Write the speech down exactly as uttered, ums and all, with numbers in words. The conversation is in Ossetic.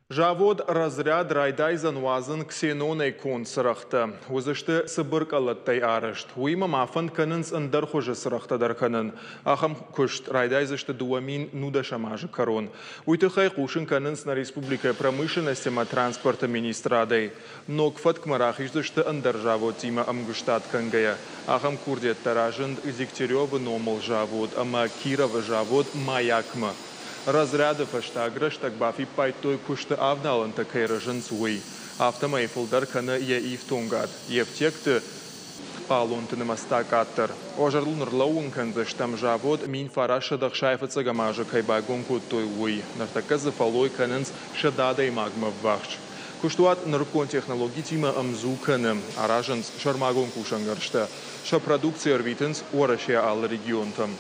Завод Разряд райдайдзӕн уадзын ксенонӕй конд цырӕгътӕ. Уыдзысты цыбыр къӕлӕттӕй арӕзт. Уыимӕ ма фӕнд кӕнынц ӕндӕр хуызы цырӕгътӕ дӕр кӕнын. Ахӕм куыст райдайдзысты дыууӕ мин нудӕсӕм азы кӕрон. Уый тыххӕй хъусын кӕнынц нӕ республикӕйы промышленность ӕмӕ транспорты министрадӕй. Ног фӕткмӕ рахиздзысты ӕндӕр заводтимӕ ӕмгуыстад кӕнгӕйӕ. Ахӕм курдиӕттӕ разынд Дегтяревы номыл завод ӕмӕ Кировы завод Маяк-мӕ. Разряды фӕстаг рӕстӕг бафиппайдтой куысты авналӕнтӕ кӕй рӕзынц, уый. Афтӕмӕй фылдӕр кӕны йӕ ифтонгад, йе фтиӕгты хъалонты нымӕц та къаддӕр. Уӕ зӕрдыл ныллӕууын кӕндзыстӕм завод мин фарастсӕдӕ ӕхсай фыццӕгӕм азы кӕй байгом кодтой, уый. Ныртӕккӕ дзы фӕллой кӕнынц сӕдӕ адӕймагмӕ ӕввахс. Куыстуат нырыккон технологитимӕ ӕмдзу кӕны. Аразынц сӕрмагонд кусӕнгӕрзтӕ. Сӕ продукци ӕрвитынц Уӕрӕсейы алы регионтӕм.